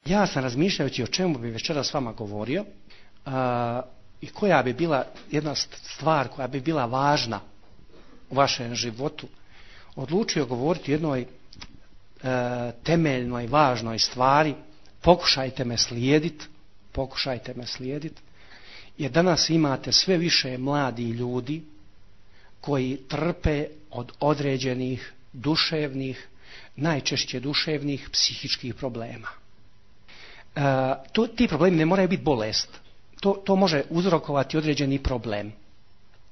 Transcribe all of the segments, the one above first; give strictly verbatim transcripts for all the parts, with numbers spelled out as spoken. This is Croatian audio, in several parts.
ja sam razmišljajući o čemu bi večeras s vama govorio a, i koja bi bila jedna stvar koja bi bila važna u vašem životu, odlučio govoriti o jednoj a, temeljnoj, važnoj stvari. Pokušajte me slijediti, pokušajte me slijediti, jer danas imate sve više mladi ljudi koji trpe od određenih duševnih, najčešće duševnih, psihičkih problema. E, to, ti problemi ne moraju biti bolest. To, to može uzrokovati određeni problem.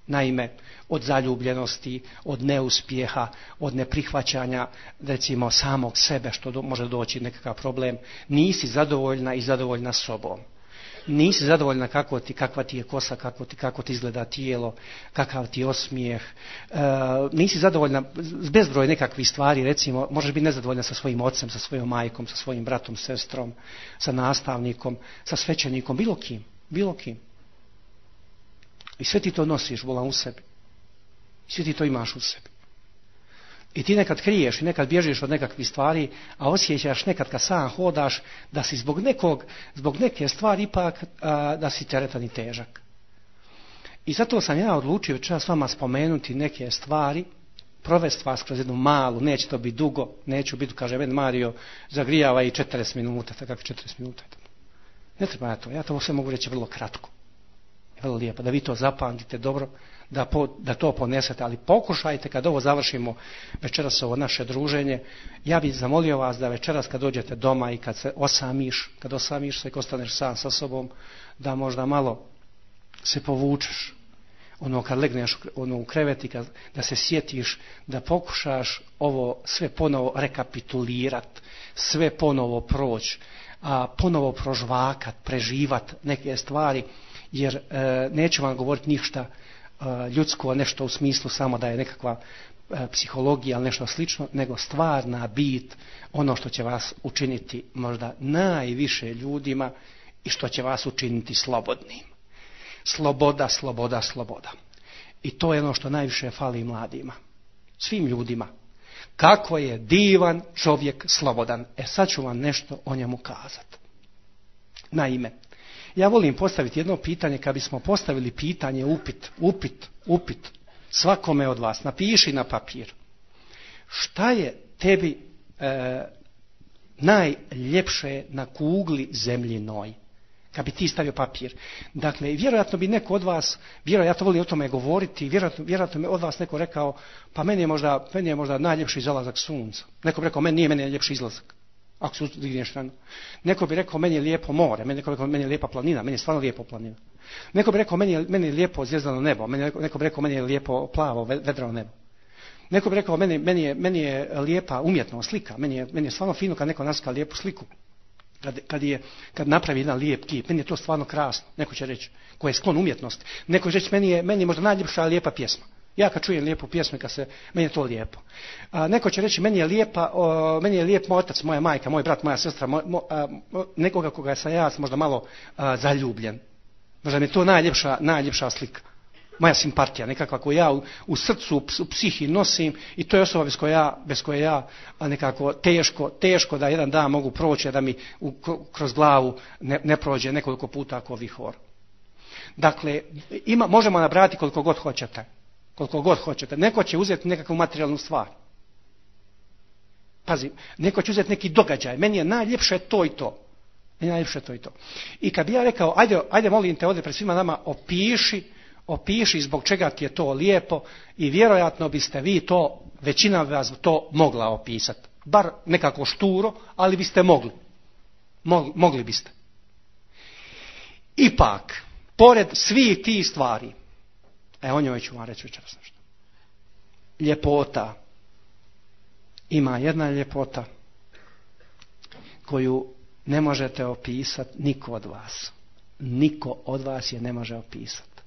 Naime, od zaljubljenosti, od neuspjeha, od neprihvaćanja, recimo, samog sebe, što do, može doći nekakav problem. Nisi zadovoljna i zadovoljna sobom. Nisi zadovoljna kako ti, kakva ti je kosa, kako ti, kako ti izgleda tijelo, kakav ti je osmijeh. E, nisi zadovoljna s bezbroj nekakvih stvari, recimo, možeš biti nezadovoljna sa svojim ocem, sa svojom majkom, sa svojim bratom, sestrom, sa nastavnikom, sa svećenikom, bilo kim, bilo kim. I sve ti to nosiš, volam, u sebi. I sve ti to imaš u sebi. I ti nekad kriješ i nekad bježiš od nekakvih stvari, a osjećaš nekad kad sam hodaš da si zbog nekog, zbog neke stvari ipak a, da si teretan i težak. I zato sam ja odlučio čas s vama spomenuti neke stvari, provesti vas kroz jednu malu, neće to biti dugo, neću biti, kaže meni Mario, zagrijava i četrdeset minuta, tako kako četrdeset minuta. Ne treba ja to, ja to sve mogu reći vrlo kratko. Vrlo lijepo, da vi to zapamtite dobro, da, po, da to ponesete, ali pokušajte kad ovo završimo večeras ovo naše druženje, ja bih zamolio vas da večeras kad dođete doma i kad se osamiš, kad osamiš se i ostaneš sam sa sobom, da možda malo se povučeš, ono kad legneš ono u krevet i kad, da se sjetiš, da pokušaš ovo sve ponovo rekapitulirat, sve ponovo proći, a ponovo prožvakat, preživat neke stvari, jer e, neću vam govoriti ništa e, ljudsko, nešto u smislu samo da je nekakva e, psihologija ili nešto slično, nego stvarna bit, ono što će vas učiniti možda najviše ljudima i što će vas učiniti slobodnim. Sloboda, sloboda, sloboda. I to je ono što najviše fali mladima, svim ljudima. Kako je divan čovjek slobodan. E sad ću vam nešto o njemu kazati. Naime, ja volim postaviti jedno pitanje, kad bismo postavili pitanje, upit, upit, upit, svakome od vas, napiši na papir. Šta je tebi e, najljepše na kugli zemljinoj? Kad bi ti stavio papir. Dakle, vjerojatno bi neko od vas, vjerojatno volim o tome govoriti, vjerojatno, vjerojatno bi od vas neko rekao, pa meni je možda, meni je možda najljepši zalazak sunca. Neko bi rekao, meni nije meni najljepši izlazak. Ako se digneš rano. Neko bi rekao, meni je lijepo more, meni, neko bi rekao, meni je lijepa planina, meni je stvarno lijepo planina. Neko bi rekao, meni je, meni je lijepo zvijezdano nebo, meni, neko bi rekao, meni je lijepo plavo, vedrano nebo. Neko bi rekao, meni, meni, je, meni je lijepa umjetnost, slika, meni je, meni je stvarno fino kad neko naslika lijepu sliku. Kad, kad, je, kad napravi jedan lijep kip, meni je to stvarno krasno, neko će reći, ko je sklon umjetnosti. Neko će reći, meni je, meni je možda najljepša lijepa pjesma. Ja kad čujem lijepu pjesmu, kad se, meni je to lijepo. A, neko će reći, meni je lijepa, o, meni je lijep moj otac, moja majka, moj brat, moja sestra, moj, mo, a, nekoga koga sam ja možda malo a, zaljubljen. Možda mi je to najljepša, najljepša slika. Moja simpatija, nekakva koju ja u, u srcu, u psihi nosim, i to je osoba bez koje ja, bez koje ja nekako teško, teško da jedan dan mogu proći, da mi u, kroz glavu ne, ne prođe nekoliko puta ako vihor. Dakle, ima, možemo nabrati koliko god hoćete. Koliko god hoćete. Neko će uzeti nekakvu materijalnu stvar. Pazi, neko će uzeti neki događaj. Meni je najljepše to i to. Meni je najljepše to i to. I kad bi ja rekao, ajde, ajde molim te ovdje pred svima nama, opiši, opiši zbog čega ti je to lijepo, i vjerojatno biste vi to, većina vas to mogla opisati. Bar nekako šturo, ali biste mogli. Mogli, mogli biste. Ipak, pored svih tih stvari, e o njoj ću vam reći večeras nešto. Ljepota. Ima jedna ljepota koju ne možete opisati niko od vas. Niko od vas je ne može opisati.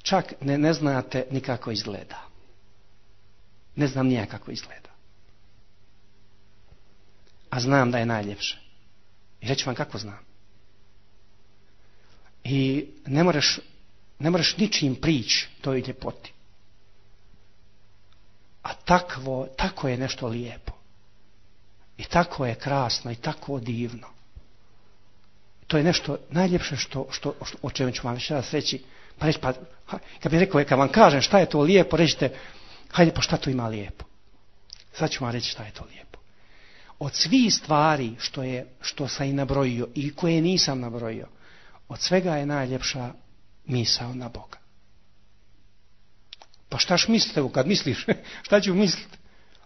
Čak ne, ne znate ni kako izgleda. Ne znam nija kako izgleda. A znam da je najljepše. I reći vam kako znam. I ne možeš, ne možeš ničim prići toj ljepoti. A takvo, tako je nešto lijepo. I tako je krasno i tako divno. To je nešto najljepše što, što, što o čemu ću vam večeras reći. Pa reći, pa, kad bih rekao, kad vam kažem šta je to lijepo, rećete, hajde, pa šta to ima lijepo? Sad ću vam reći šta je to lijepo. Od svih stvari što, je, što sam i nabrojio i koje nisam nabrojio, od svega je najljepša misao na Boga. Pa štaš mislite, kad misliš, šta ću misliti?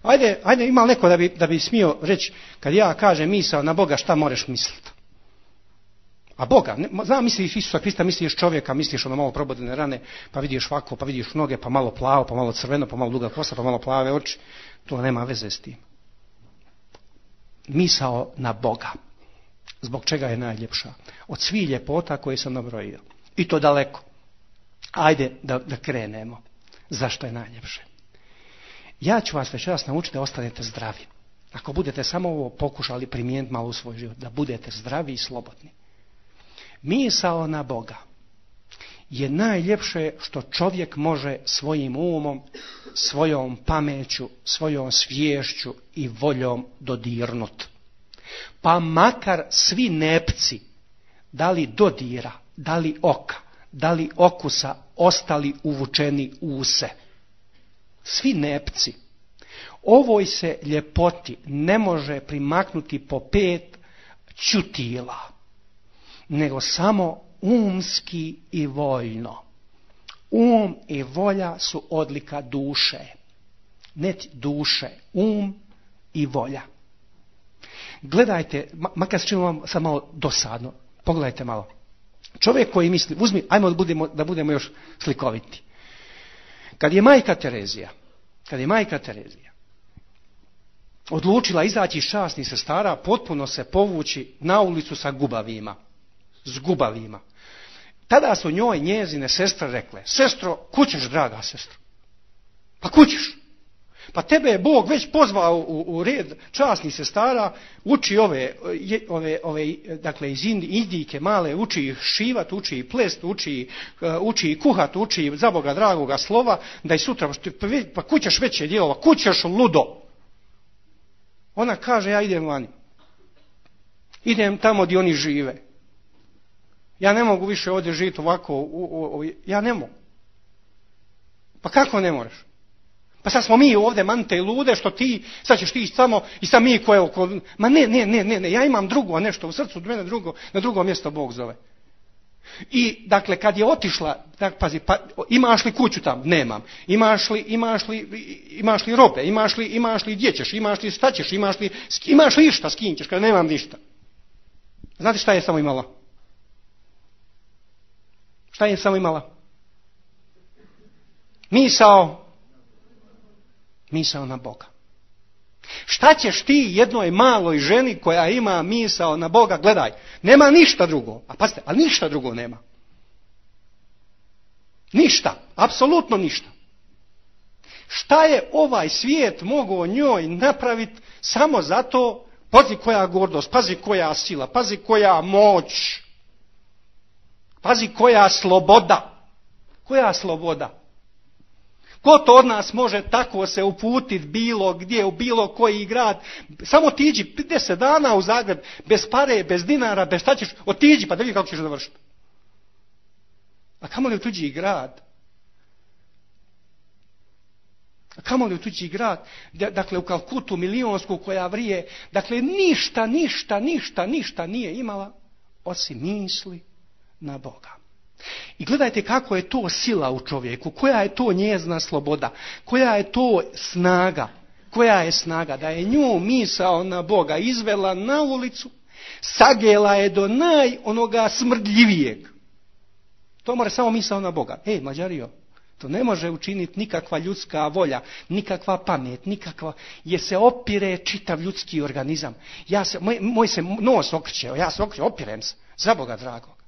Ajde, ajde, ima neko da bi, da bi smio reći, kad ja kažem misao na Boga, šta moraš misliti? A Boga, ne, znam, misliš Isusa Krista, misliš čovjeka, misliš ono malo probodene rane, pa vidiš ovako, pa vidiš noge, pa malo plavo, pa malo crveno, pa malo duga kosa, pa malo plave oči. To nema veze s tim. Misao na Boga. Zbog čega je najljepša? Od svih ljepota koje sam nabrojio. I to daleko. Ajde da, da krenemo. Zašto je najljepše? Ja ću vas večeras naučiti da ostanete zdravi. Ako budete samo ovo pokušali primijeniti malo u svoj život, da budete zdravi i slobodni. Misao na Boga je najljepše što čovjek može svojim umom, svojom pameću, svojom sviješću i voljom dodirnut. Pa makar svi nepci, da li dodira, da li oka, da li okusa, ostali uvučeni u use. Svi nepci. Ovoj se ljepoti ne može primaknuti po pet ćutila, nego samo umski i voljno. Um i volja su odlika duše. Ne duše, um i volja. Gledajte, makar se čini vam sad malo dosadno, pogledajte malo. Čovjek koji misli, uzmi, ajmo da budemo, da budemo još slikoviti. Kad je majka Terezija, kad je majka Terezija odlučila izaći iz časnih sestara, potpuno se povući na ulicu sa gubavima. S gubavima. Tada su njoj njezine sestre rekle, sestro, kućeš, draga sestro? Pa kućeš. Pa tebe je Bog već pozvao u, u red časnih sestara, uči ove, ove, ove dakle iz Indijke male, uči ih šivat, uči ih plest, uči, uči ih kuhat, uči za Boga dragoga slova, da i sutra, pa kućeš veće djelova, kućeš ludo. Ona kaže, ja idem vani. Idem tamo gdje oni žive. Ja ne mogu više ovdje živjeti ovako, u, u, u, ja ne mogu. Pa kako ne možeš? Pa sad smo mi ovdje mante i lude, što ti, sad ćeš ti samo i sad mi koje oko... Ma ne, ne, ne, ne, ne, ja imam drugo, a nešto u srcu, mene drugo, na drugo mjesto Bog zove. I, dakle, kad je otišla, tak, pazi, pa, imaš li kuću tam? Nemam. Imaš li, imaš li, imaš li robe? Imaš li, imaš li gdje ćeš? Imaš li šta ćeš? Imaš li, imaš li išta s kim ćeš? Kad nemam ništa. Znate šta je samo imala? Šta je samo imala? Misao. Misao na Boga. Šta ćeš ti jednoj maloj ženi koja ima misao na Boga? Gledaj, nema ništa drugo. A pazite, ali ništa drugo nema. Ništa, apsolutno ništa. Šta je ovaj svijet mogao njoj napraviti samo zato, pazi koja gordost, pazi koja sila, pazi koja moć, pazi koja sloboda. Koja sloboda? Ko to od nas može tako se uputiti bilo gdje, u bilo koji grad? Samo tiđi deset dana u Zagreb, bez pare, bez dinara, bez šta ćeš, otiđi pa da vidi kako ćeš završiti. A kamo li u tuđi grad? A kamo li u tuđi grad? Dakle, u Kalkutu milionsku koja vrije, dakle, ništa, ništa, ništa, ništa nije imala osim misli na Boga. I gledajte kako je to sila u čovjeku, koja je to njezna sloboda, koja je to snaga, koja je snaga da je nju misao na Boga izvela na ulicu, sagela je do naj onoga smrdljivijeg. To mora samo misao na Boga. Ej, Mađario, to ne može učiniti nikakva ljudska volja, nikakva pamet, nikakva, jer se opire čitav ljudski organizam. Ja se, moj, moj se nos okreće, ja se okreće, opirem se, za Boga dragog.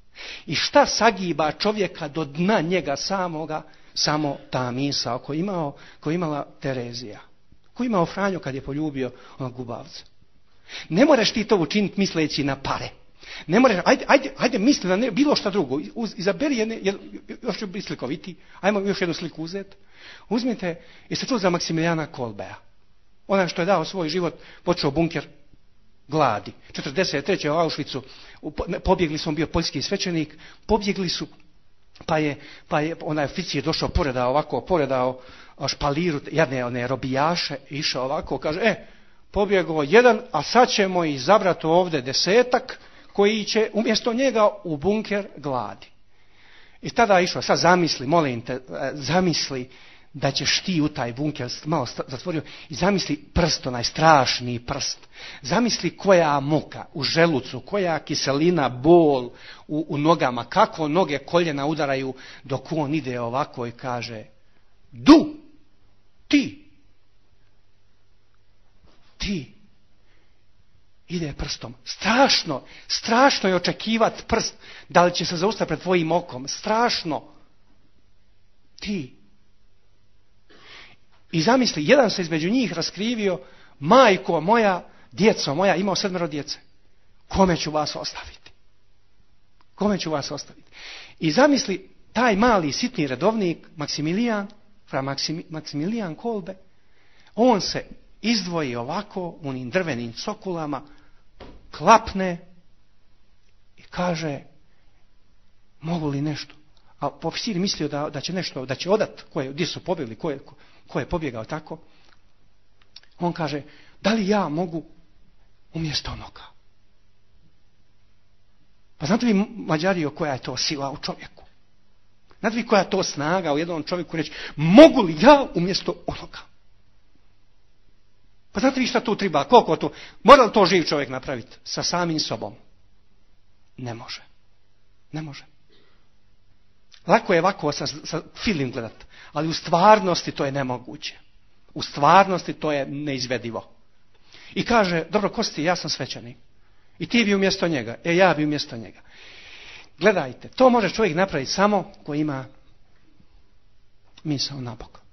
I šta sagiba čovjeka do dna njega samoga? Samo ta misao koju imao, koju imala Terezija. Koju imao Franjo kad je poljubio onog gubavca. Ne moraš ti to učiniti misleći na pare. Ne moraš, ajde, ajde, ajde misli na ne, bilo šta drugo. Uz, izaberi jedne, jed, još ću biti slikoviti. Ajmo još jednu sliku uzeti. Uzmite, jeste čuli za Maksimilijana Kolbea? Onaj što je dao svoj život, počeo bunker gladi. četrdeset treće u Auschwitzu pobjegli su, on bio poljski svećenik, pobjegli su, pa je, pa je onaj oficir došao, poredao ovako, poredao špaliru, jedne one robijaše, išao ovako, kaže, e, pobjegao jedan, a sad ćemo izabrati ovdje desetak koji će umjesto njega u bunker gladi. I tada je išao, sad zamisli, molim te, zamisli da ćeš ti u taj bunker, malo zatvorio, i zamisli prst, onaj strašni prst. Zamisli koja muka u želucu, koja kiselina, bol u, u nogama, kako noge koljena udaraju dok on ide ovako i kaže, du, ti, ti, ide prstom. Strašno, strašno je očekivati prst, da li će se zaustaviti pred tvojim okom, strašno. Ti. I zamisli, jedan se između njih raskrivio, majko moja, djeco moja, imao sedmero djece. Kome ću vas ostaviti? Kome ću vas ostaviti? I zamisli, taj mali sitni redovnik, Maksimilijan, fra Maksim, Maksimilijan Kolbe, on se izdvoji ovako u onim drvenim cokulama, klapne i kaže, mogu li nešto? A oficir mislio da, da će nešto, da će odat, koje, gdje su pobjegli, ko je, ko, ko je pobjegao tako. On kaže, da li ja mogu umjesto onoga? Pa znate vi, Mađario, koja je to sila u čovjeku? Znate vi koja je to snaga u jednom čovjeku reći, mogu li ja umjesto onoga? Pa znate vi šta tu treba, koliko to, mora li to živ čovjek napraviti sa samim sobom? Ne može. Ne može. Lako je ovako sa, sa film gledat, ali u stvarnosti to je nemoguće. U stvarnosti to je neizvedivo. I kaže, dobro, ko si ti, ja sam svećenik. I ti bi umjesto njega, e ja bi umjesto njega. Gledajte, to može čovjek napraviti samo ko ima misao na Bog.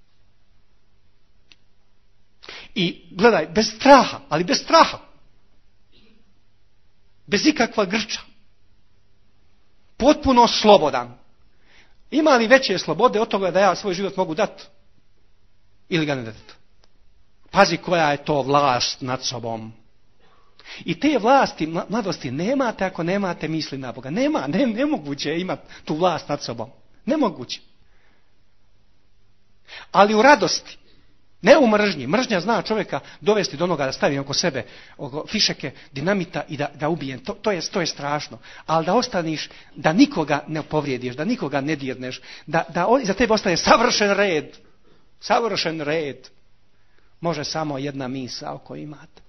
I gledaj, bez straha, ali bez straha. Bez ikakva grča. Potpuno slobodan. Ima li veće slobode od toga da ja svoj život mogu dati? Ili ga ne dati? Pazi koja je to vlast nad sobom. I te vlasti, mladosti, nemate ako nemate misli na Boga. Nema, ne, nemoguće je imati tu vlast nad sobom. Nemoguće. Ali u radosti, ne u mržnji. Mržnja zna čovjeka dovesti do onoga da stavi oko sebe oko fišeke, dinamita i da, da ubije. To, to, je, to je strašno. Ali da ostaniš, da nikoga ne povrijediš, da nikoga ne dirneš, da, da za tebe ostane savršen red. Savršen red. Može samo jedna misao koju imate.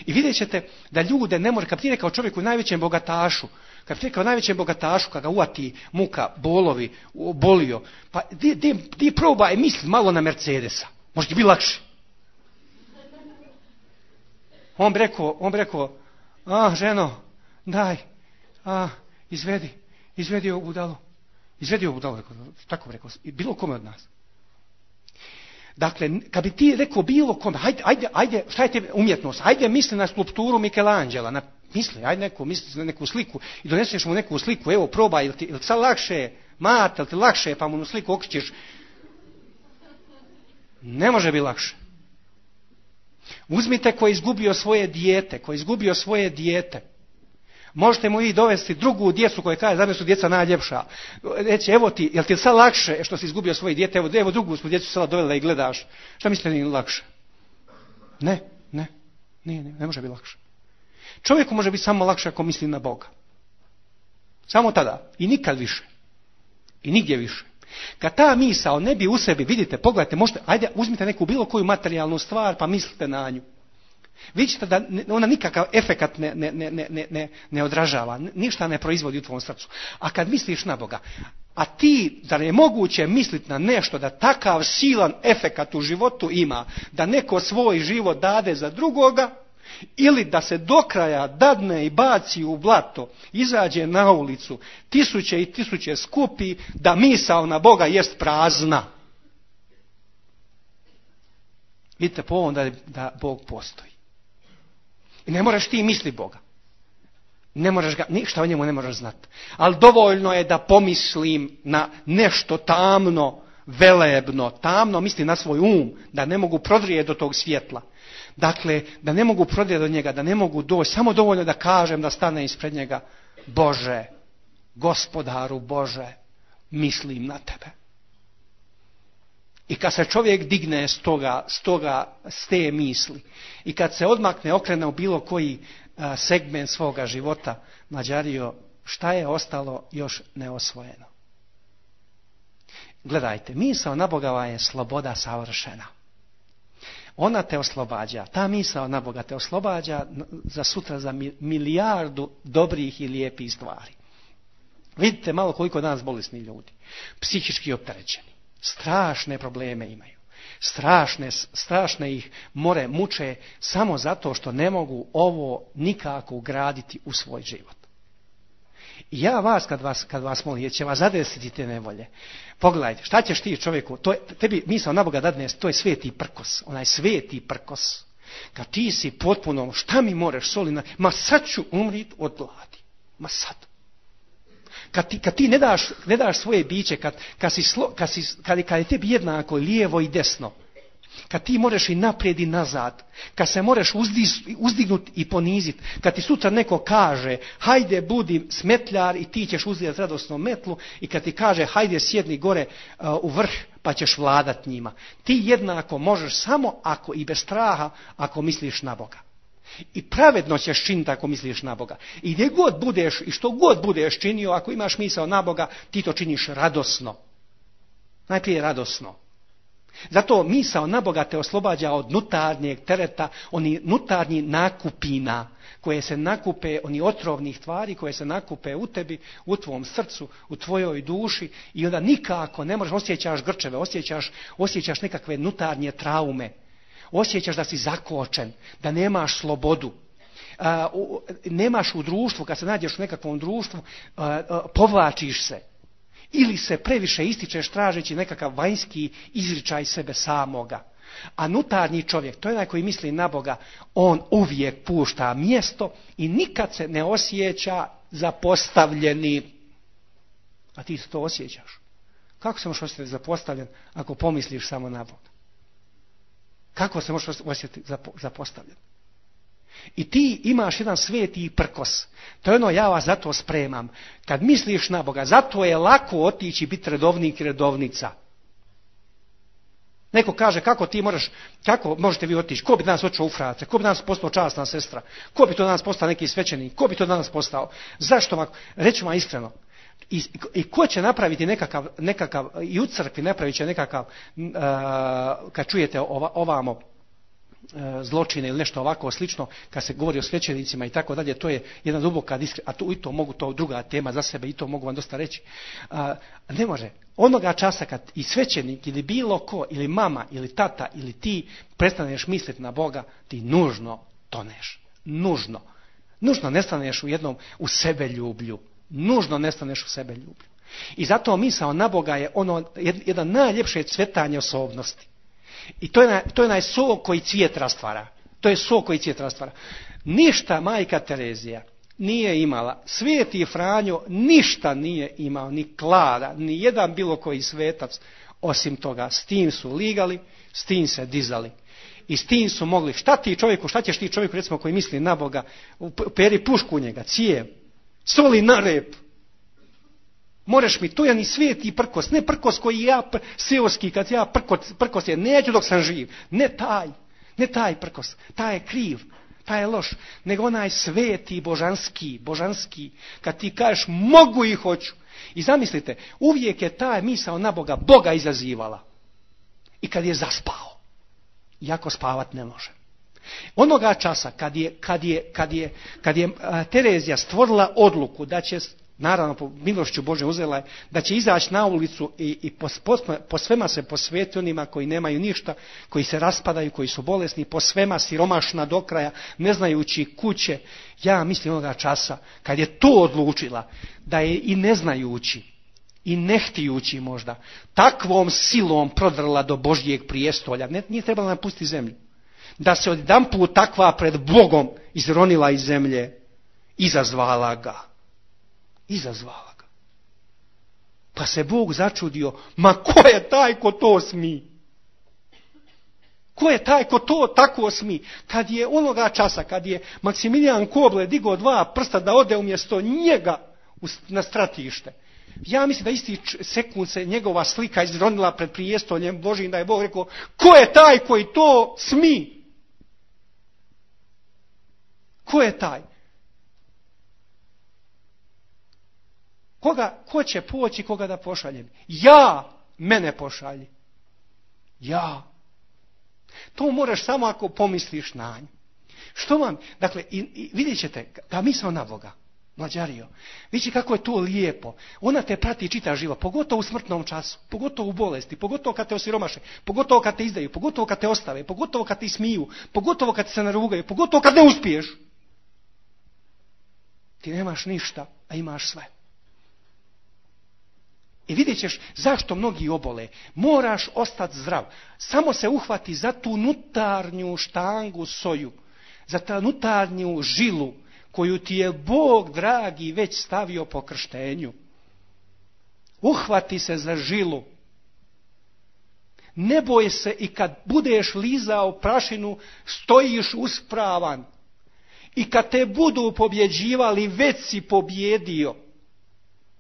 I vidjet ćete da ljude ne može, kad ti rekao čovjeku najvećem bogatašu, kad ti rekao najvećem bogatašu, kad ga uvati muka, bolovi, bolio, pa di, di, di probaj misli malo na Mercedesa. Može ti biti lakše. On bi rekao, on bi rekao, a ženo, daj, a, izvedi, izvedi ovu budalu. Izvedi ovu budalu, tako bi rekao, bilo kome od nas. Dakle, kad bi ti rekao bilo kome, ajde, ajde, ajde, šta je te umjetnost, ajde misli na skulpturu Michelangela, na, misli, ajde neku, misli na neku sliku i doneseš mu neku sliku, evo probaj, ili ti, ili ti sad lakše, mate, ili ti lakše, pa mu na sliku okrećeš. Ne može biti lakše. Uzmite ko je izgubio svoje dijete, ko je izgubio svoje dijete. Možete mu i dovesti drugu djecu koja kaže, za mene su djeca najljepša. Reći, evo ti, jel ti sad lakše što si izgubio svoje dijete, evo, evo drugu smo djecu sada dovela i gledaš. Šta mislite nije lakše? Ne, ne, ne, ne, ne može biti lakše. Čovjeku može biti samo lakše ako misli na Boga. Samo tada. I nikad više. I nigdje više. Kad ta misao ne bi u sebi, vidite, pogledajte, možete, ajde, uzmite neku bilo koju materijalnu stvar pa mislite na nju. Vidite da ona nikakav efekat ne, ne, ne, ne, ne, ne odražava, ništa ne proizvodi u tvom srcu. A kad misliš na Boga, a ti, zar je moguće misliti na nešto da takav silan efekat u životu ima, da neko svoj život dade za drugoga, ili da se do kraja dadne i baci u blato, izađe na ulicu, tisuće i tisuće skupi, da misao na Boga jest prazna. Vidite po ovom da, da Bog postoji. I ne moraš ti misli Boga. Ne moraš ga, ništa o njemu ne moraš znati. Ali dovoljno je da pomislim na nešto tamno, velebno, tamno, misli na svoj um, da ne mogu prodrijeti do tog svjetla. Dakle, da ne mogu prodrijeti do njega, da ne mogu doći, samo dovoljno da kažem da stane ispred njega, Bože, Gospodaru Bože, mislim na tebe. I kad se čovjek digne s toga, s toga, s te misli, i kad se odmakne, okrene u bilo koji a, segment svoga života, Mađario, šta je ostalo još neosvojeno? Gledajte, misao na Boga je sloboda savršena. Ona te oslobađa, ta misao na Boga te oslobađa za sutra za milijardu dobrih i lijepih stvari. Vidite malo koliko danas bolesni ljudi, psihički opterećeni, strašne probleme imaju, strašne, strašne ih more muče samo zato što ne mogu ovo nikako ugraditi u svoj život. I ja vas kad vas, kad vas molim, jer će vas zadesiti te nevolje, pogledajte, šta ćeš ti čovjeku, to je, tebi misao na Boga dadne, to je sveti prkos, onaj sveti prkos, kad ti si potpuno, šta mi moreš solina, ma sad ću umrit od gladi, ma sad. Kad ti, kad ti ne daš, ne daš svoje biće, kad, kad, si slo, kad, si, kad, kad je tebi jednako lijevo i desno, kad ti možeš i naprijed i nazad, kad se možeš uzdiz, uzdignuti i poniziti, kad ti sutra neko kaže hajde budi smetljar i ti ćeš uzdizati radosno metlu, i kad ti kaže hajde sjedni gore uh, u vrh pa ćeš vladat njima. Ti jednako možeš samo ako i bez straha, ako misliš na Boga. I pravedno ćeš činiti ako misliš na Boga. I gdje god budeš i što god budeš činio, ako imaš misao na Boga, ti to činiš radosno. Najprije radosno. Zato misao na Boga te oslobađa od nutarnjeg tereta, oni nutarnji nakupina koje se nakupe, oni otrovnih tvari koje se nakupe u tebi, u tvom srcu, u tvojoj duši, i onda nikako ne možeš, osjećaš grčeve, osjećaš, osjećaš nekakve nutarnje traume, osjećaš da si zakočen, da nemaš slobodu. A, u, nemaš u društvu, kad se nađeš u nekakvom društvu, a, a, povlačiš se. Ili se previše ističeš tražeći nekakav vanjski izričaj sebe samoga. A nutarnji čovjek, to je onaj koji misli na Boga, on uvijek pušta mjesto i nikad se ne osjeća zapostavljeni. A ti se to osjećaš. Kako se možeš osjetiti zapostavljen ako pomisliš samo na Boga? Kako se možeš osjetiti zapostavljen? I ti imaš jedan sveti prkos. To je ono, ja vas zato spremam. Kad misliš na Boga, zato je lako otići biti redovnik i redovnica. Neko kaže, kako ti možeš, kako možete vi otići? Ko bi danas otišao u frate? Ko bi danas postao časna sestra? Ko bi to danas postao neki svećenik? Ko bi to danas postao? Zašto ovako? Reću vam iskreno. I, I ko će napraviti nekakav, nekakav i u crkvi napravit će nekakav, uh, kad čujete ova, ovamo, zločine ili nešto ovako slično, kad se govori o svećenicima i tako dalje, to je jedna duboka diskre, a to, i to mogu, to druga tema za sebe, i to mogu vam dosta reći. A, ne može. Onoga časa kad i svećenik ili bilo ko, ili mama, ili tata, ili ti prestaneš misliti na Boga, ti nužno toneš. Nužno. Nužno nestaneš u jednom, u sebe ljublju. Nužno nestaneš u sebe ljublju. I zato misao na Boga je ono, jedan najljepše cvjetanje osobnosti. I to je, na, to je onaj sok koji cvijet rastvara. To je sok koji cvijet rastvara. Ništa majka Terezija nije imala. Sveti Franjo ništa nije imao, ni Klara, ni jedan bilo koji svetac, osim toga. S tim su ligali, s tim se dizali. I s tim su mogli, šta ti čovjeku, šta ćeš ti čovjeku, recimo, koji misli na Boga, peri pušku u njega, cijev, soli na rep. Moraš mi, to je ni sveti prkos, ne prkos koji ja, seoski, kad ja prkos, prkos je, neću dok sam živ, ne taj, ne taj prkos, taj je kriv, taj je loš, nego onaj sveti, božanski, božanski, kad ti kažeš mogu i hoću. I zamislite, uvijek je taj misao na Boga, Boga izazivala. I kad je zaspao, iako spavat ne može. Onoga časa, kad je, kad je, kad je, kad je a, Terezija stvorila odluku da će, naravno po milošću Bože uzela je, da će izaći na ulicu i, i po, po, po svema se posveti onima koji nemaju ništa, koji se raspadaju, koji su bolesni, po svema siromašna do kraja, ne znajući kuće. Ja mislim onoga časa, kad je to odlučila, da je i ne znajući, i ne htijući možda, takvom silom prodrla do Božjeg prijestolja, ne, nije trebala napustiti zemlju, da se odjedanput takva pred Bogom izronila iz zemlje, izazvala ga. Izazvala ga. Pa se Bog začudio, ma ko je taj ko to smi? Ko je taj ko to tako smi? Kad je onoga časa, kad je Maksimilijan Koble digao dva prsta da ode umjesto njega na stratište, ja mislim da isti sekund se njegova slika izronila pred prijestoljem Božijim, da je Bog rekao, ko je taj koji to smi? Ko je taj? Koga, ko će poći, koga da pošaljem? Ja, mene pošalji. Ja. To moraš samo ako pomisliš na nju. Što vam, dakle, i, i vidjet ćete, ta misao na Boga, mlađario, vidite kako je to lijepo. Ona te prati čita živa, pogotovo u smrtnom času, pogotovo u bolesti, pogotovo kad te osiromaše, pogotovo kad te izdaju, pogotovo kad te ostave, pogotovo kad te smiju, pogotovo kad se narugaju, pogotovo kad ne uspiješ. Ti nemaš ništa, a imaš sve. I vidjet ćeš zašto mnogi obole. Moraš ostati zdrav. Samo se uhvati za tu nutarnju štangu soju, za tu nutarnju žilu koju ti je Bog dragi već stavio po krštenju. Uhvati se za žilu. Ne boj se i kad budeš lizao prašinu, stojiš uspravan. I kad te budu pobjeđivali, već si pobjedio.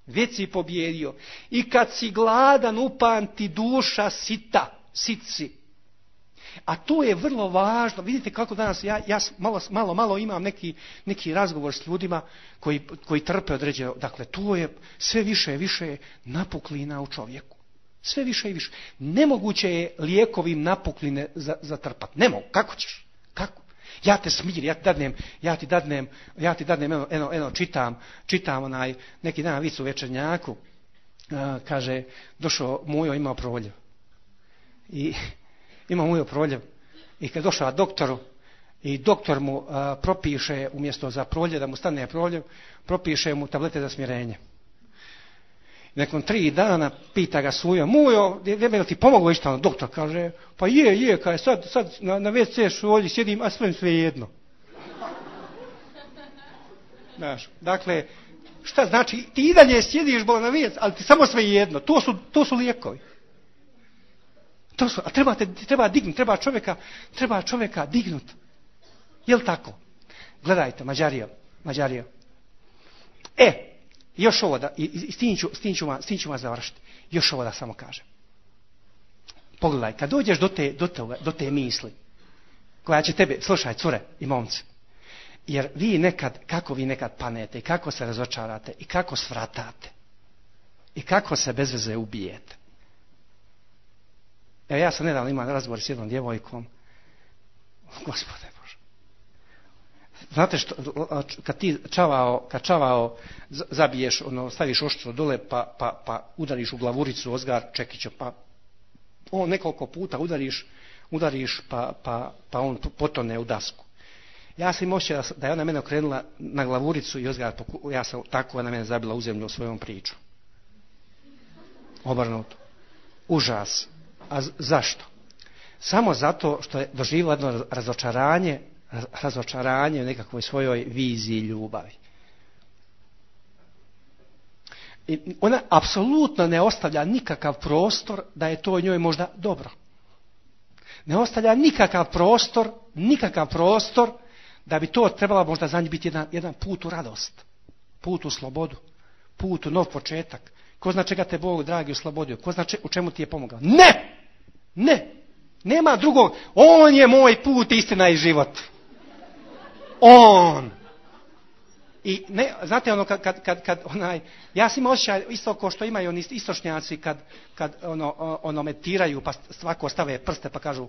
Već si pobjedio. I kad si gladan, upamti duša sita, sit si. A to je vrlo važno. Vidite kako danas, ja, ja malo, malo, malo imam neki, neki razgovor s ljudima koji, koji trpe određeno. Dakle, to je sve više i više napuklina u čovjeku. Sve više i više. Nemoguće je lijekovim napukline zatrpati. Ne mogu. Kako ćeš? Kako? Ja te smirim, ja ti dadnem, ja ti dadnem, ja ti dadnem, eno, eno, eno čitam, čitam onaj, neki dan vic u Večernjaku, uh, kaže, došao Mujo, imao proljev. I imao Mujo proljev. I kad došao doktoru, i doktor mu uh, propiše, umjesto za proljev, da mu stane proljev, propiše mu tablete za smirenje. Nakon tri dana pita ga Sujo, Mujo, je ti pomoglo išta? Doktor kaže, pa je, je, kaže, sad, sad na, na ve ce šolji sjedim, a sve sve jedno. Znaš, dakle, šta znači, ti i dalje sjediš bol na ve ce, ali ti samo sve jedno, to su, to su lijekovi. To su, a treba, te, treba dignuti, treba čovjeka, treba čovjeka dignuti. Jel tako? Gledajte, Mađario, Mađario. E, još ovo da, i, i s tim ću, s tim ću, s tim ću vas završiti. Još ovo da samo kažem. Pogledaj, kad dođeš do te, do, toga, do te misli, koja će tebe, slušaj, cure i momci, jer vi nekad, kako vi nekad panete, i kako se razočarate, i kako svratate, i kako se bez veze ubijete. Evo, ja sam nedavno imao razgovor s jednom djevojkom. Gospode Bože. Znate što, kad ti čavao, kad čavao zabiješ, ono, staviš oštro dole, pa, pa, pa udariš u glavuricu ozgar čekića, pa on nekoliko puta udariš, udariš pa, pa, pa on potone u dasku. Ja sam imao osjećaj da je ona mene okrenula na glavuricu i ozgar, ja sam tako, ona mene zabila u zemlju svojom pričom. Obrnuto. Užas. A zašto? Samo zato što je doživjela jedno razočaranje, razočaranje u nekakvoj svojoj viziji ljubavi. I ona apsolutno ne ostavlja nikakav prostor da je to njoj možda dobro. Ne ostavlja nikakav prostor, nikakav prostor da bi to trebala možda za nju biti jedan, jedan put u radost, put u slobodu, put u nov početak. Ko zna čega te Bog dragi oslobodio? Ko zna če, u čemu ti je pomogao? Ne! Ne! Nema drugog. On je moj put, istina i život. On! I ne, znate ono kad, kad, kad, kad onaj, ja sam imao osjećaj isto kao što imaju oni istočnjaci kad, kad ono, ono meditiraju pa svako stave prste pa kažu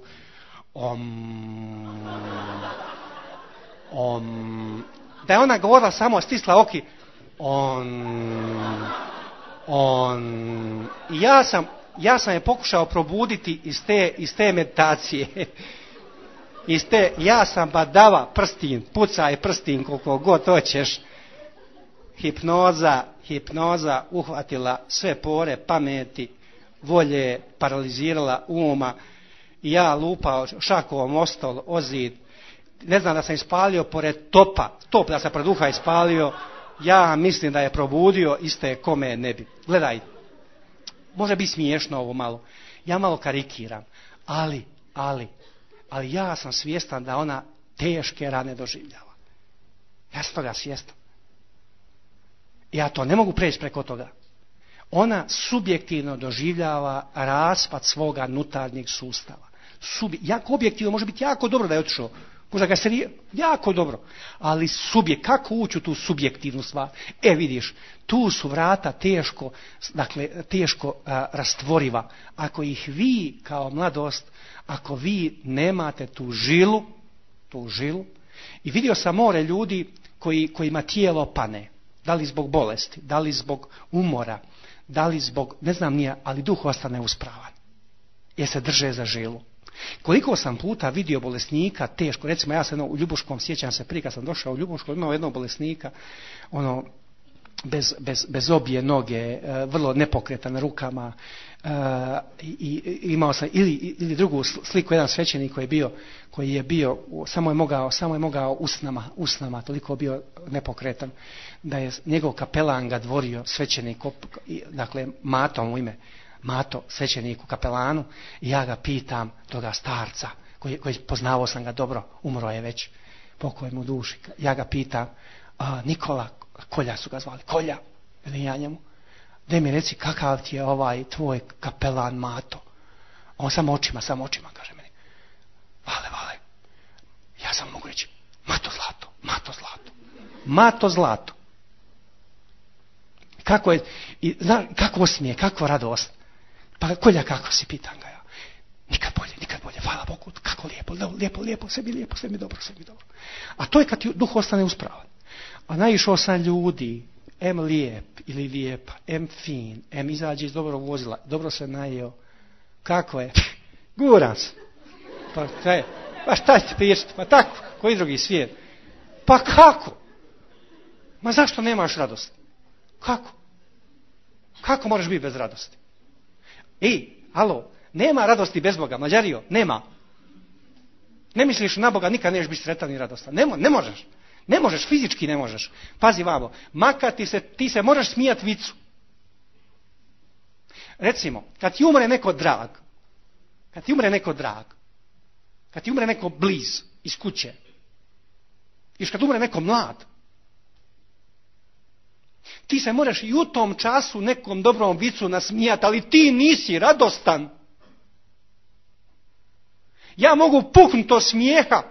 om, om, da je ona govorila samo stisla oki on, on, i ja sam, ja sam je pokušao probuditi iz te, iz te meditacije. Iz te, ja sam badava prstin, pucaj prstin koliko god hoćeš. Hipnoza, hipnoza uhvatila sve pore pameti, volje, paralizirala uma. I ja lupao šakovom o stol, o zid. Ne znam da sam ispalio pored topa, top da sam pred uha ispalio. Ja mislim da je probudio, iste kome ne bi. Gledaj, može biti smiješno ovo malo. Ja malo karikiram. Ali, ali, ali ja sam svjestan da ona teške rane doživljava. Ja sam toga svjestan. Ja to ne mogu preći preko toga. Ona subjektivno doživljava raspad svoga nutarnjeg sustava. Subi, jako objektivno može biti jako dobro da je otišao. Možda ga se jako dobro. Ali subjekt, kako ući u tu subjektivnu stvar? E vidiš, tu su vrata teško, dakle, teško a, rastvoriva. Ako ih vi kao mladost, ako vi nemate tu žilu, tu žilu, i vidio sam more ljudi koji, kojima tijelo pane. Da li zbog bolesti, da li zbog umora, da li zbog, ne znam nije, ali duh ostane uspravan. Jer se drže za žilu. Koliko sam puta vidio bolesnika teško, recimo ja sam u Ljubuškom, sjećam se prije kad sam došao u Ljubuško, imao jednog bolesnika, ono, bez, bez, bez obje noge, vrlo nepokretan rukama, i, i imao sam ili, ili drugu sliku, jedan svećenik koji je bio, koji je bio, samo je mogao, samo je mogao usnama, usnama, toliko bio nepokretan, da je njegov kapelan ga dvorio, svećenik, dakle, Matom u ime, Mato, svećeniku, kapelanu, i ja ga pitam, toga starca, koji, koji poznavao sam ga dobro, umro je već, pokoj mu duši, ja ga pitam, a, Nikola, Kolja su ga zvali, Kolja, ili ja njemu, daj mi reci kakav ti je ovaj tvoj kapelan Mato. On samo očima, samo očima, kaže meni, vale, vale, ja sam mogu reći, Mato zlato, Mato zlato, Mato zlato. Kako je, i, zna, kako osmije, kako radost. Pa Kolja, kako si, pitan ga ja. Nikad bolje, nikad bolje, hvala Bogu, kako lijepo, lijepo, lijepo, sve mi lijepo, sve mi dobro, sve mi dobro. A to je kad ti duh ostane uspravan. A naišao sam ljudi, em lijep ili lijepa, em fin, em izađe iz dobrog vozila, dobro se najeo. Kako je? Guran se. Pa, kaj, pa šta ćete pričati? Pa tako, koji drugi svijet? Pa kako? Ma zašto nemaš radost? Kako? Kako možeš biti bez radosti? Ej, alo, nema radosti bez Boga, Mađario, nema. Ne misliš na Boga, nikad nećeš biti sretan i radostan. Ne, ne možeš. Ne možeš, fizički ne možeš. Pazi vamo, makar ti se, ti se možeš smijati vicu. Recimo, kad ti umre neko drag, kad ti umre neko drag, kad ti umre neko bliz iz kuće, i kad umre neko mlad, ti se možeš i u tom času nekom dobrom vicu nasmijati, ali ti nisi radostan. Ja mogu puknuti od smijeha,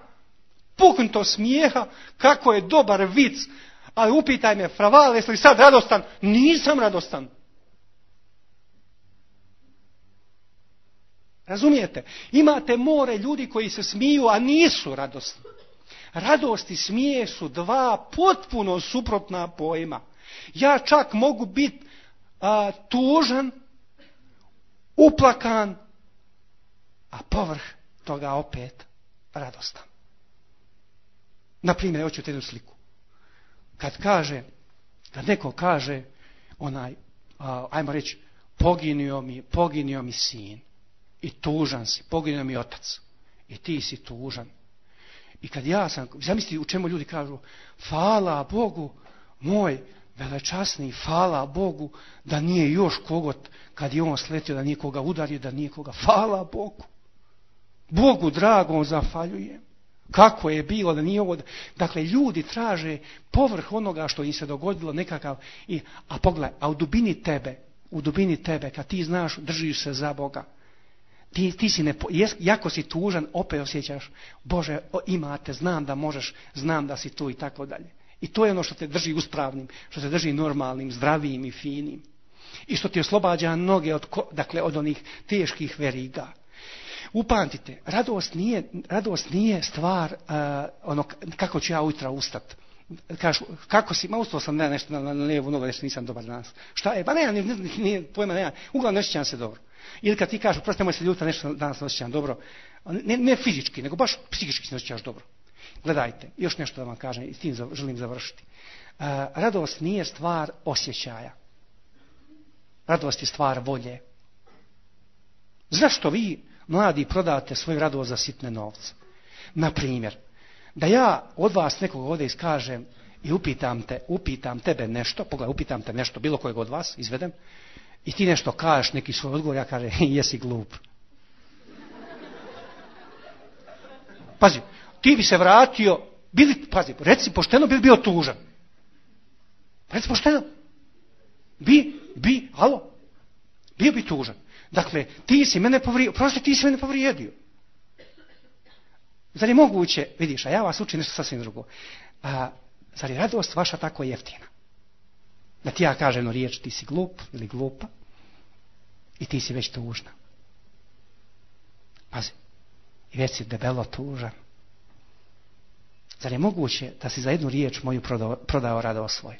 puknuti od smijeha, kako je dobar vic, ali upitaj me, Fraval, jesi li sad radostan? Nisam radostan. Razumijete? Imate more ljudi koji se smiju, a nisu radosni. Radost i smije su dva potpuno suprotna pojma. Ja čak mogu biti a, tužan, uplakan, a povrh toga opet radostan. Naprimjer, hoću te jednu sliku. Kad kaže, kad neko kaže, onaj, a, ajmo reći, poginio mi, poginio mi sin. I tužan si, poginio mi otac. I ti si tužan. I kad ja sam, zamisli u čemu ljudi kažu, hvala Bogu, moj velečasni, hvala Bogu, da nije još kogot, kad je on sletio, da nije koga udario, da nije koga, hvala Bogu. Bogu dragom zahvaljujem. Kako je bilo da nije ovo. Dakle, ljudi traže povrh onoga što im se dogodilo nekakav. I, a pogledaj, a u dubini tebe, u dubini tebe, kad ti znaš, držiš se za Boga, ti, ti si ne, jako si tužan, opet osjećaš, Bože, imate, znam da možeš, znam da si tu i tako dalje. I to je ono što te drži uspravnim, što te drži normalnim, zdravijim i finim. I što ti oslobađa noge od, dakle, od onih teških veriga. Upamtite, radost nije, radost nije stvar uh, ono kako ću ja ujutro ustati. Kažu, kako si, ma ustao sam ne, nešto na, na lijevu nogu, nešto nisam dobar danas. Šta je? Pa ne, nije, nije pojma, ne, uglavnom ne osjećam se dobro. Ili kad ti kažu, prosto nemoj se ljuta, nešto danas ne osjećam dobro. Ne, ne fizički, nego baš psihički se osjećaš dobro. Gledajte, još nešto da vam kažem i s tim želim završiti. Uh, radost nije stvar osjećaja. Radost je stvar volje. Zašto vi, mladi, prodate svoju radost za sitne novce? Na primjer, da ja od vas nekog ovdje iskažem i upitam te, upitam tebe nešto, pogledaj, upitam te nešto, bilo kojeg od vas, izvedem, I ti nešto kažeš, neki svoj odgovor, ja kažem, jesi glup. Pazi, ti bi se vratio, bili, pazi, reci pošteno, bi bio tužan. Reci pošteno. Bi, bi, alo, bio bi tužan. Dakle, ti si mene povrijedio, prosto ti si mene povrijedio. Zar je moguće, vidiš, a ja vas učim nešto sasvim drugo. A, zar je radost vaša tako jeftina? Da ti ja kažem no riječ, ti si glup ili glupa i ti si već tužna. Pazi, i već si debelo tužan. Zar je moguće da si za jednu riječ moju prodao, prodao radost svoj?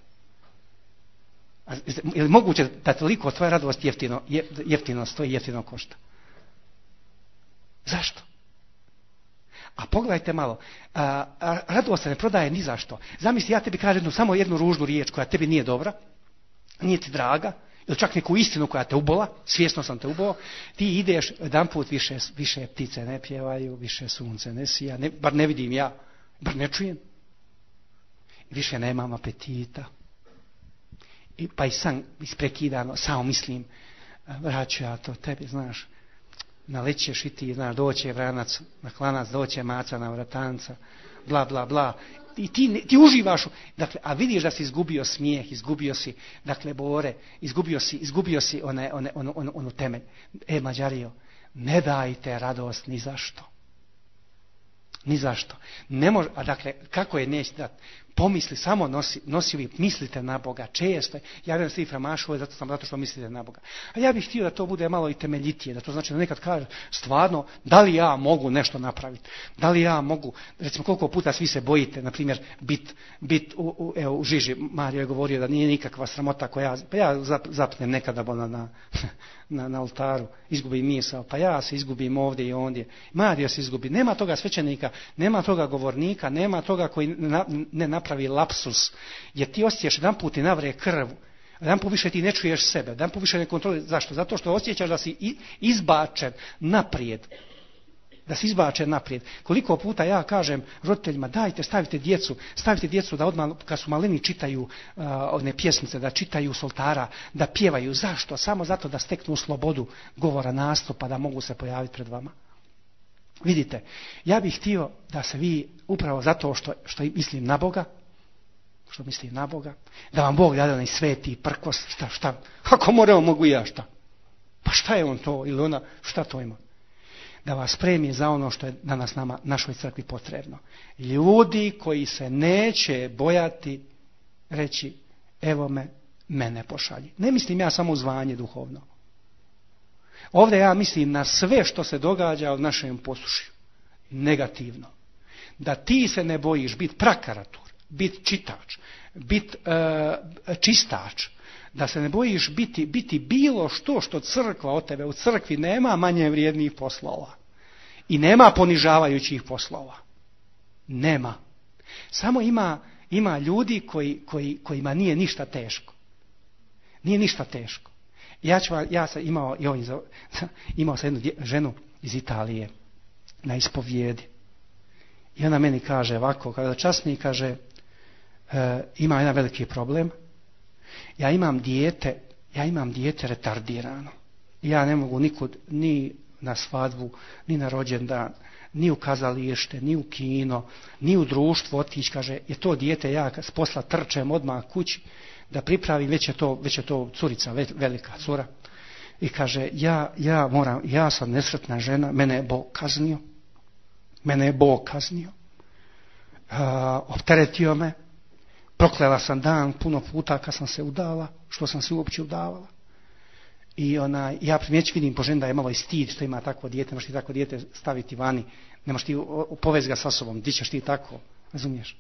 Je li moguće da toliko tvoja radost jeftino, jeftino stoji, jeftino košta? Zašto? A pogledajte malo, a, a, radost se ne prodaje ni zašto. Zamisli, ja tebi kažem jednu, samo jednu ružnu riječ koja tebi nije dobra, nije ti draga, ili čak neku istinu koja te ubola, svjesno sam te ubao, ti ideš jedan put više, više ptice ne pjevaju, više sunce ne sija, ne, bar ne vidim ja, bar ne čujem. Više nemam apetita. I, pa i sam isprekidano, samo mislim, vraću ja to tebi, znaš, nalećeš i ti, znaš, doće vranac na klanac, doće maca na vratanca, bla, bla, bla. I ti, ti uživaš, dakle, a vidiš da si izgubio smijeh, izgubio si, dakle, bore, izgubio si, izgubio si one, one, onu, onu, onu temelj. E, Mađarijo, ne dajte radost ni zašto. Ni zašto. Ne može, a dakle, kako je neće dati? Pomisli, samo nosi, nosi vi, mislite na Boga, često. Ja vjerujem svi framašuje, zato sam zato što mislite na Boga. A ja bih htio da to bude malo i temeljitije, da to znači da nekad kaže, stvarno, da li ja mogu nešto napraviti? Da li ja mogu, recimo koliko puta svi se bojite, na primjer, bit, bit u, u, evo, u žiži, Mario je govorio da nije nikakva sramota koja ja, pa ja zap, zapnem nekada na, na, na, na oltaru, izgubim misao, pa ja se izgubim ovdje i ondje. Mario se izgubi, nema toga svećenika, nema toga govornika, nema toga koji na, ne napravi lapsus, jer ti osjećaš jedan put i navre krv, jedan put više ti ne čuješ sebe, jedan put više ne kontroluješ. Zašto? Zato što osjećaš da si izbačen naprijed. Da si izbačen naprijed. Koliko puta ja kažem roditeljima, dajte, stavite djecu, stavite djecu da odmah, kad su maleni, čitaju uh, one pjesmice, da čitaju s oltara, da pjevaju. Zašto? Samo zato da steknu slobodu govora, nastupa, da mogu se pojaviti pred vama. Vidite, ja bih htio da se vi, upravo zato što, što mislim na Boga, što mislim na Boga, da vam Bog dade onaj sveti prkos, šta, šta, ako moramo, mogu ja šta. Pa šta je on to ili ona, šta to ima? Da vas spremi za ono što je danas nama, našoj crkvi potrebno. Ljudi koji se neće bojati reći, evo me, mene pošalji. Ne mislim ja samo u zvanje duhovno. Ovdje ja mislim na sve što se događa u našem poslušju. Negativno. Da ti se ne bojiš biti prakaratur, biti čitač, biti uh, čistač. Da se ne bojiš biti, biti bilo što što crkva od tebe. U crkvi nema manje vrijednih poslova. I nema ponižavajućih poslova. Nema. Samo ima, ima ljudi koji, koji, kojima nije ništa teško. Nije ništa teško. Ja, ću, ja sam imao, joj, imao sam jednu dje, ženu iz Italije na ispovijedi. I ona meni kaže ovako, kada časni kaže, e, ima jedan veliki problem. Ja imam dijete, ja imam dijete retardirano. Ja ne mogu nikud, ni na svadbu, ni na rođendan, ni u kazalište, ni u kino, ni u društvo otići. Kaže, je to dijete, ja s posla trčem odmah kući da pripravim, već je to, već je to curica, velika cura. I kaže, ja, ja moram, ja sam nesretna žena, mene je Bog kaznio. Mene je Bog kaznio. Uh, opteretio me. Proklela sam dan puno puta kad sam se udala, što sam se uopće udavala. I ona, ja primjeći vidim po ženi da je malo i stid što ima takvo dijete, ne možeš ti takvo dijete staviti vani, ne možeš ti povesti ga sa sobom, di ćeš ti tako, razumiješ?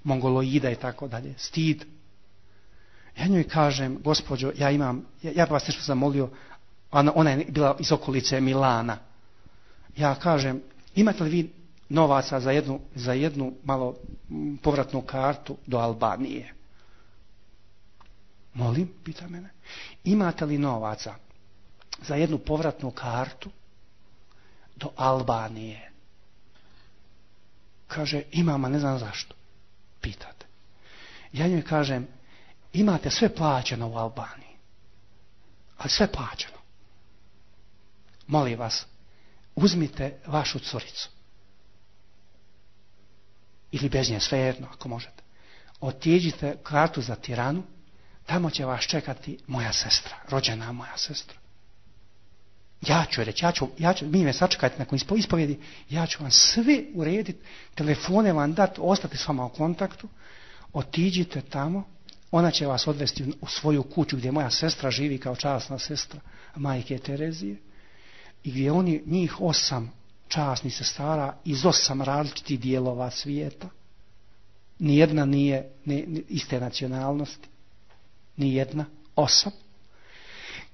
Mongoloida i tako dalje, stid. Ja njoj kažem, gospođo, ja imam, ja, ja vas nešto zamolio, ona, ona je bila iz okolice Milana. Ja kažem, imate li vi novaca za jednu, za jednu malo povratnu kartu do Albanije? Molim, pita mene. Imate li novaca za jednu povratnu kartu do Albanije? Kaže, imam, a ne znam zašto. Pitate. Ja njoj kažem, imate sve plaćeno u Albaniji. Ali sve plaćeno. Molim vas, uzmite vašu curicu. Ili bez nje, svejedno, ako možete. Otiđite kartu za Tiranu, tamo će vas čekati moja sestra, rođena moja sestra. Ja ću reći, ja ću, ja ću, mi me sačekajte nakon ispovjedi, ja ću vam sve urediti, telefone vam dati, ostati s vama u kontaktu, otiđite tamo, ona će vas odvesti u svoju kuću gdje moja sestra živi kao časna sestra majke Terezije i gdje oni, njih osam časnih sestara iz osam različitih dijelova svijeta, nijedna nije ne, ne, iste nacionalnosti, nijedna, osam,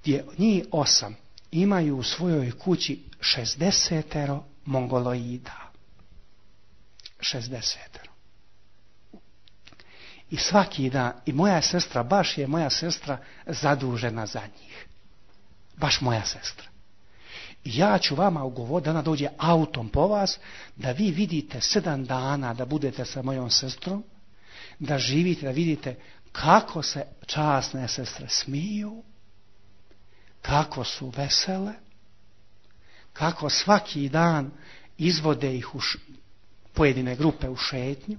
gdje njih osam imaju u svojoj kući šezdesetero mongoloida. šezdesetero. I svaki dan, i moja sestra, baš je moja sestra zadužena za njih. Baš moja sestra. I ja ću vama ugovoriti da ona dođe autom po vas, da vi vidite sedam dana da budete sa mojom sestrom, da živite, da vidite kako se časne sestre smiju, kako su vesele, kako svaki dan izvode ih u š... pojedine grupe u šetnju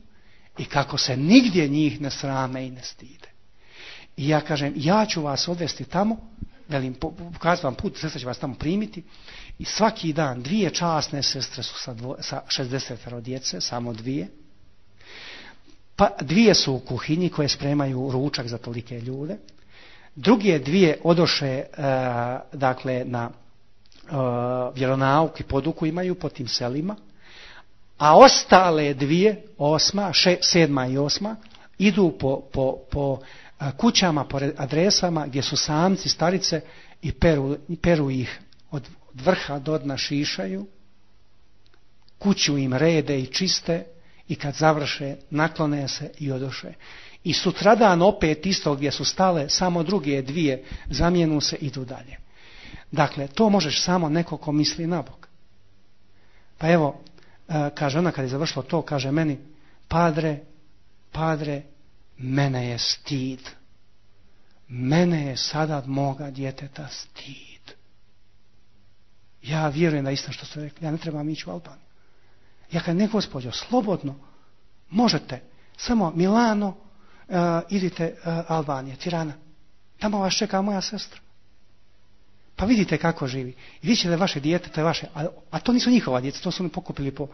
i kako se nigdje njih ne srame i ne stide. I ja kažem, ja ću vas odvesti tamo, velim, pokazati vam put, sestra će vas tamo primiti i svaki dan dvije časne sestre su sa, dvo, sa šezdesetero djece, samo dvije. Pa dvije su u kuhinji koje spremaju ručak za tolike ljude. Druge dvije odoše uh, dakle na uh, vjeronauk i poduku imaju po tim selima, a ostale dvije, osma, še, sedma i osma, idu po, po, po uh, kućama, po adresama gdje su samci, starice i peru, peru ih od, od vrha do dna šišaju, kuću im rede i čiste i kad završe naklone se i odoše. I sutradan opet isto gdje su stale, samo druge dvije zamijenu se i idu dalje. Dakle, to možeš samo neko ko misli na Bog. Pa evo, kaže ona kad je završilo to, kaže meni, padre, padre, mene je stid. Mene je sada od moga djeteta stid. Ja vjerujem da isto što ste rekli, ja ne trebam ići u Albaniju. Ja kad ne, gospođo, slobodno, možete, samo Milano, Uh, idite uh, Albanije, Tirana. Tamo vas čeka moja sestra. Pa vidite kako živi. I vidite da je vaše dijete, to je vaše, a, a to nisu njihova djeca, to su mi pokupili po,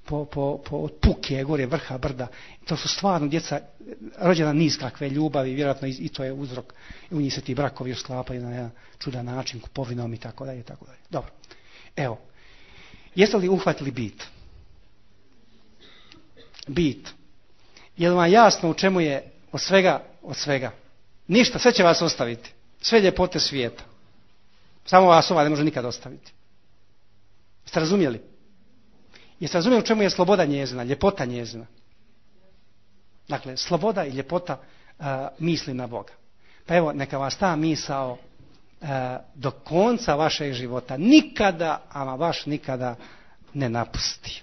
po, po, po od puke, gore, vrha, brda. To su stvarno djeca rođena niz kakve ljubavi, vjerojatno i, i to je uzrok. I u njih se ti brakovi sklapaju na jedan čudan način, kupovinom i tako dalje, tako dalje. Dobro. Evo. Jeste li uhvatili bit? Bit. Je li vam jasno u čemu je od svega, od svega? Ništa, sve će vas ostaviti. Sve ljepote svijeta. Samo vas ova ne može nikad ostaviti. Jeste razumjeli? Jeste razumjeli u čemu je sloboda njezina, ljepota njezina? Dakle, sloboda i ljepota uh, misli na Boga. Pa evo, neka vas ta misao uh, do konca vašeg života nikada, ama baš nikada ne napusti.